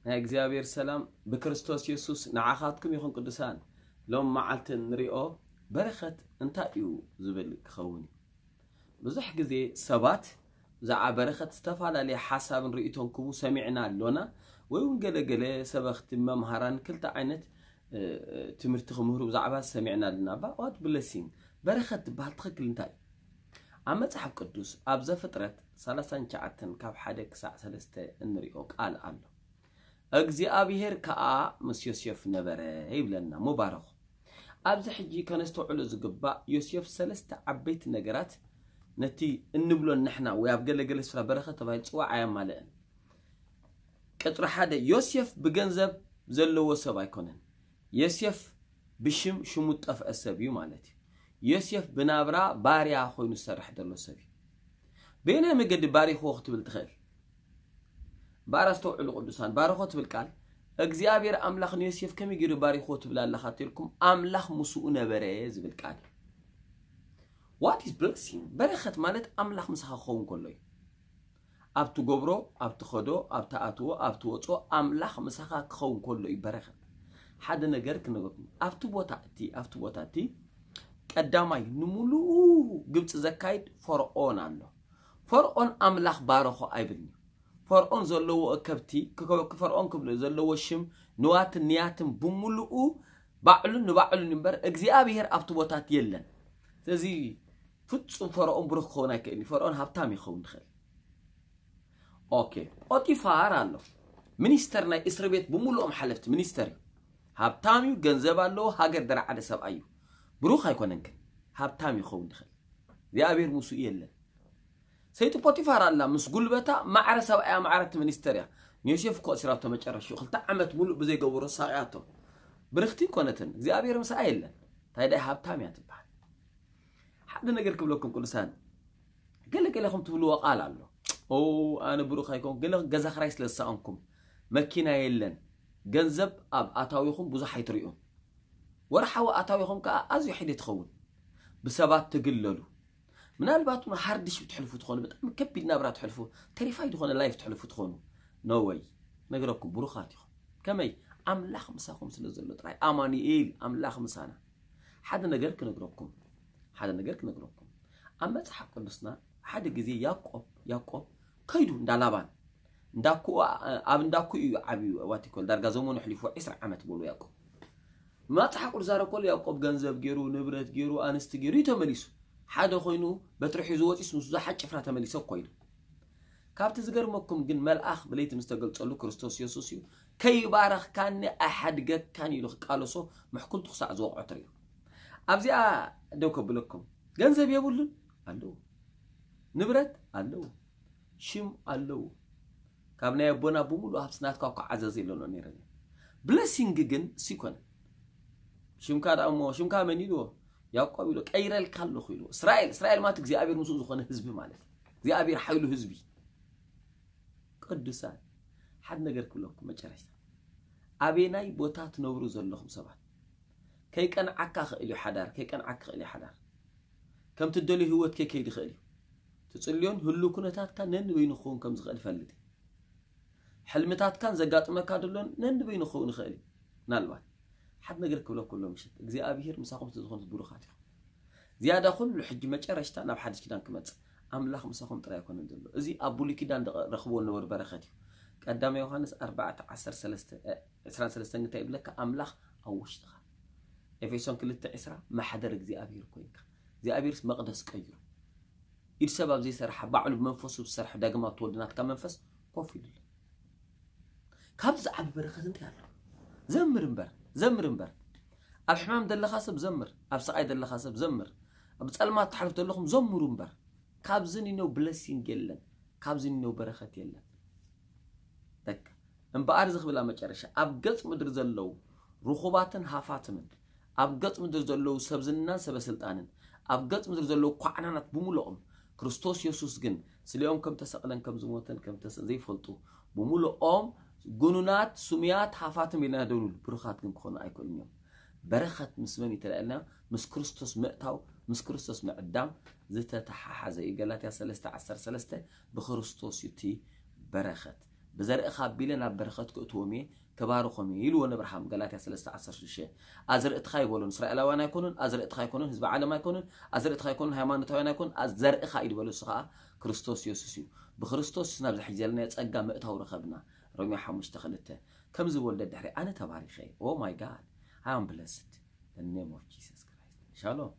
ናይ እግዚኣብሔር ሰላም ብክርስቶስ የሱስ ንዓኻትኩም ይኹን። ቅዱሳን፣ ሎም መዓልቲ እንሪኦ በረኸት እንታይ እዩ ዝብል ክኸውን እዩ። ብዙሕ ግዜ ሰባት ብዛዕባ በረኸት ዝተፈላለየ ሓሳብን ርእይቶን ክቡ ሰሚዕና ኣሎና። ወይ እውን ገለገለ ሰበኽቲ መምሃራን ክልተ ዓይነት ትምህርቲ ክምህሩ ብዛዕባ ሰሚዕና ኣለና። But what blessing? በረኸት ዝበሃል ትኽክል እንታይ እዩ? ኣብ መጽሓፍ ቅዱስ ኣብ ዘፍጥረት ሰላሳን ትሽዓተን ካብ ሓደ ክሳዕ ሰለስተ እንሪኦ ቃል ኣሎ። እግዚኣብሔር ከኣ ምስ ዮሴፍ ነበረ ይብለና። ሙባረኹ። ኣብዚ ሕጂ ከነስተውዕሎ ዝግባእ፣ ዮሴፍ ሰለስተ ዓበይቲ ነገራት፣ ነቲ እንብሎ ንሕና ወይ ኣብ ገለገለ ስፍራ በረኸት ተባሂሉ ዝጽዋዕ ኣየማልእን። ቅጽሪ ሓደ፣ ዮሴፍ ብገንዘብ ዘለዎ ሰብ ኣይኮነን። ዮሴፍ ብሽም ሽሙ ዝጠፍአ ሰብ እዩ ማለት እዩ። ዮሴፍ ብናብራ ባርያ ኮይኑ ዝሰርሕ ዘሎ ሰብ እዩ። በየናይ መገዲ ባሪኽዎ ክትብል ትኽእል? እምበኣር ኣስተውዕሉ ቅዱሳን፣ ባርኾ ትብል ቃል፣ እግዚኣብሔር ኣምላኽ ንዮሴፍ ከመይ ገይሩ ባሪኽዎ ትብል ኣለኻ ተልኩም፣ ኣምላኽ ምስኡ ነበረ ዝብል ቃል። What is blessing? በረኸት ማለት ኣምላኽ ምሳኻ ክኸውን ከሎ እዩ። ኣብ ትገብሮ፣ ኣብ ትኸዶ፣ ኣብ ትኣትዎ፣ ኣብ ትወፅኦ ኣምላኽ ምሳኻ ክኸውን ከሎ እዩ በረኸት። ሓደ ነገር ክነግረኩም። ኣብቲ ቦታ እቲ፣ ኣብቲ ቦታ እቲ ቀዳማይ ንምሉኡ ግብፂ ዘካይድ ፈርዖን ኣሎ። ፈርዖን ኣምላኽ ባረኾ ኣይብልን እዩ። ፈርዖን ዘለዎ ከብቲ፣ ክከ-፣ ፈርዖን ክብሎ ዘለዎ ሽም፣ ንዋትን ንያትን ብምሉኡ ባዕሉን ንባዕሉን እምበር እግዚኣብሔር ኣብቲ ቦታት የለን። ስለዚ ፍጹም ፈርዖን ብሩኽ ክኸውን ኣይክእልን እዩ። ፈርዖን ሃብታም ይኸውን ይኽእል። ኦኬ፣ ፖጢፋር ኣሎ። ሚኒስተር ናይ እስር ቤት ብምሉኦም ሓለፍቲ ሚኒስተር እዩ። ሃብታም እዩ፣ ገንዘብ ኣለዎ፣ ሃገር ደረዓደ ሰብኣይ እዩ። ብሩኽ ኣይኮነን ግን ሃብታም ይኸውን ይኽእል። እግዚኣብሔር ምስኡ የለን። ሰይቲ ፖቲፋር ኣላ ምስ ጉልበታ ማዕረ ሰብኣያ ማዕረ እቲ ሚኒስተር እያ። ንዮሴፍ እኮ እሲራቶ መጨረሽኡ ክልተ ዓመት ሙሉእ ብዘይገበሮ ሳቕያቶ። ብርኽቲ ኮነትን እግዚኣብሔር ምስኣ የለን። እንታይ ደኣ ሃብታም እያ ትበሃል። ሓደ ነገር ክብለኩም ቅዱሳን፣ ገለ ገለኹም ትብልዎ ቃል ኣሎ። ኦ፣ ኣነ ብሩኽ ኣይኮን፣ ገለ ገዛ ክራይ ስለ ዝሰኣንኩም፣ መኪና የለን፣ ገንዘብ ኣብ ኣታዊኹም ብዙሕ ኣይትርእዩን። ወርሓዊ ኣታዊኹም ከኣ ኣዝዩ ሕደ ትኸውን። ብሰባት ትግለሉ። ምናልባት እውን ሃርድሽ ትሕልፉ ትኾኑ፣ ብጣዕሚ ከቢድ ናብራ ትሕልፉ፣ ተሪፋይ ዝኾነ ላይፍ ትሕልፉ ትኾኑ። ኖ ወይ፣ ነግረኩም፣ ብሩኻት ኢኹም። ከመይ? ኣምላኽ ምሳኹም ስለ ዘሎ ጥራይ። ኣማኑኤል፣ ኣምላኽ ምሳና። ሓደ ነገር ክነግረኩም፣ ሓደ ነገር ክነግረኩም። ኣብ መጽሓፍ ቅዱስና ሓደ ግዜ ያዕቆብ፣ ያዕቆብ ከይዱ እንዳ ላባን፣ እንዳኩ፣ ኣብ እንዳኩ እዩ ዓብዩ፣ ዋቲኮል ዳርጋ ዘመኑ ኣሕሊፉ ዕስራ ዓመት በሉ ያዕቆብ። መጽሓፍ ቅዱስ ዛረብ ከሎ ያዕቆብ ገንዘብ ገይሩ፣ ንብረት ገይሩ፣ ኣንስቲ ገይሩ እዩ ተመሊሱ። ሓደ ኮይኑ በትሪ ሒዙ ወፂስ ምስ ብዙሓት ጭፍራ ተመሊሰ እኮ ኢሉ። ካብቲ ዝገርመኩም ግን መልኣኽ ብለይቲ ምስ ተገልጸሉ ክርስቶስ የሱስ እዩ፣ "ከይባረኽካኒ ኣይሓድገካን" ኢሉ ክቃለሶ ምሕኩልቱ ክሳዕ ዝወቕዖ ትርእዩ። ኣብዚኣ ደው ከብለኩም፣ ገንዘብ የብሉን ኣለዎ፣ ንብረት ኣለዎ፣ ሽም ኣለዎ። ካብ ናይ ኣቦና ብምሉእ ሃብቲ ናትካ እኮ ዓዘዝ ኢለኖ ነይረ። ብለሲንግ ግን እሱ ይኮነ። ሽምካ ደኣ እሞ፣ ሽምካ መን ኢልዎ? ያዕቆብ ኢሎ፣ ቀይረልካ ኣለኹ ኢልዎ። እስራኤል፣ እስራኤል ማለት እግዚኣብሔር ምስኡ ዝኾነ ህዝቢ ማለት እዩ። እግዚኣብሔር ሓይሉ ህዝቢ። ቅዱሳን፣ ሓደ ነገር ክብለኩም መጨረሽታ። ኣበናይ ቦታ ትነብሩ ዘለኹም ሰባት፣ ከይቀንዓካ ክእል እዩ ሓዳር፣ ከይቀንዓካ ክእል እዩ ሓዳር። ከም ትደልዮ ህይወት ከይከይድ ይኽእል እዩ። ትጽልዮን ህሉ ኩነታትካ ነንበይኑ ክኸውን ከም ዝኽእል ፈልጥ። ሕልምታትካን ዘጋጥመካ ደሎን ነንበይኑ ክኸውን ይኽእል እዩ። ምናልባት ሓደ ነገር ክብለኩም ኣሎ ምሸት፣ እግዚኣብሔር ምሳኹም ስለ ዝኾነ ብሩኻት ኢኹም። ዝያዳ ኩሉ ሕጂ መጨረሽታ ናብ ሓድሽ ኪዳን ክመጽእ፣ ኣምላኽ ምሳኹም ጥራይ ኣይኮነን ዘሎ። እዚ ኣብ ብሉይ ኪዳን ዝረኽብዎ ዝነበሩ በረኸት እዩ። ቀዳማይ ዮሃንስ ኣርባዕተ ዓሰርተ ሰለስተ፣ እ፣ ዕስራን ሰለስተን እንታይ ይብለካ? ኣምላኽ ኣብ ውሽጥኻ። ኤፌሶን ክልተ ዕስራ፣ ማሕደር እግዚኣብሔር ኮይንካ። እግዚኣብሔርስ መቕደስ ቀይሩ። ኢድ ሰብ ኣብ ዘይሰርሓ፣ ባዕሉ ብመንፈሱ ዝሰርሐ፣ ዳግም ኣብ ተወልደ ናትካ መንፈስ ኮፍ ኢሉ ኣሎ። ካብዚ ዝዓቢ በረኸት እንታይ ኣሎ? ዘምር እምበር፣ ዘምር እምበር። ኣብ ሕማም ዘለኻ ሰብ ዘምር፣ ኣብ ስቓይ ዘለኻ ሰብ ዘምር፣ ኣብ ጸልማት ትሓልፉ ዘለኹም ዘምሩ እምበር። ካብዚ ኒኖ ብለሲንግ የለን፣ ካብዚ ኒኖ በረኸት የለን። በቃ። እምበኣር እዚ ክብል ኣብ መጨረሻ፣ ኣብ ገጽ ምድሪ ዘለዉ ርኹባትን ሃፋትምን፣ ኣብ ገጽ ምድሪ ዘለዉ ሰብ ዝናን ሰበ ስልጣንን፣ ኣብ ገጽ ምድሪ ዘለዉ ኳዕናናት ብምሉኦም ክርስቶስ የሱስ ግን ስሊኦም ከም ተሰቕለን ከም ዝሞተን ከም ተሰ ዘይፈልጡ ብምሉኦም ግኑናት ስሙያት ሃፋትም ኢልና ደውሉ ብሩኻት ግን ክኾኑ ኣይክእሉን እዮም። በረኸት ምስ መን ይተላልና? ምስ ክርስቶስ ምእታው ምስ ክርስቶስ ምዕዳም ዝተተሓሓዘ እዩ። ገላትያ ሰለስተ ዓሰርተ ሰለስተ ብክርስቶስ እዩ እቲ በረኸት። ብዘርእኻ ኣቢለ ናብ በረኸት ክእትዎም እየ ክባርኾም እየ ኢልዎ ንኣብርሃም። ገላትያ ሰለስተ ዓሰርተ ሽዱሽተ ኣዝርእትኻ ይበሎ። እስራኤላውያን ኣይኮኑን፣ ኣዝርእትኻ ኣይኮኑን፣ ህዝቢ ዓለም ኣይኮኑን፣ ኣዝርእትኻ ኣይኮኑን፣ ሃይማኖታውያን ኣይኮኑን፣ ዘርእኻ እዩ ዝበሎ። እሱ ከዓ ክርስቶስ የሱስ እዩ። ብክርስቶስ ናብ ዝሕጂ ዘለናዮ ጸጋ ምእታው ረኸብና። ሮሜ ሓሙሽተ ክልተ ከምዚ ወልደ ድሕሪ ኣነ ተባሪኸ። Oh my God, I am blessed in the name of Jesus Christ. ሻሎም።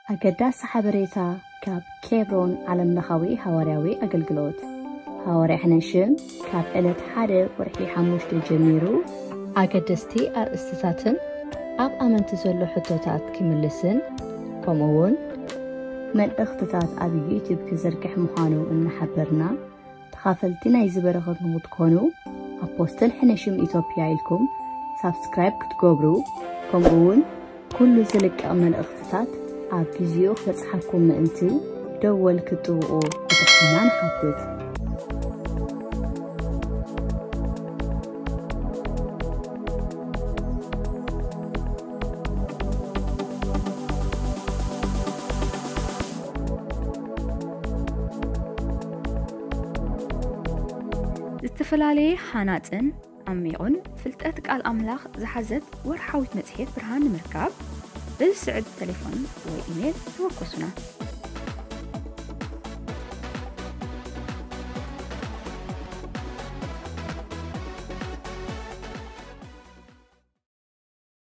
ኣገዳሲ ሓበሬታ ካብ ኬብሮን ዓለምለኻዊ ሃዋርያዊ ኣገልግሎት። ሃዋርያ ሕነሽም ካብ ዕለት ሓደ ወርሒ ሓሙሽተ ጀሚሩ ኣገደስቲ ኣርእስትታትን ኣብ ኣመንቲ ዘሎ ሕቶታት ክምልስን ከምኡ እውን መልእኽትታት ኣብ ዩቲዩብ ክዝርግሕ ምዃኑ እናሓበርና ተኻፈልቲ ናይዚ በረኸት ንኽትኮኑ ኣፖስትል ሕነሽም ኢትዮጵያ ኢልኩም ሳብስክራይብ ክትገብሩ ከምኡ እውን ኩሉ ዝልቀቕ መልእኽትታት ኣብ ግዚኡ ክበጽሓኩም ምእንቲ ደወል ክትጥውቑ ብትሕትና ንሓትት። ዝተፈላለየ ሃናጽን ዓሚቑን ፍልጠት ቃል ኣምላኽ ዝሓዘት ወርሓዊት መጽሔት ብርሃን ንምርካብ በዚ ስዕብ ተሌፎን ወይ ኢሜይል ተወከሱና።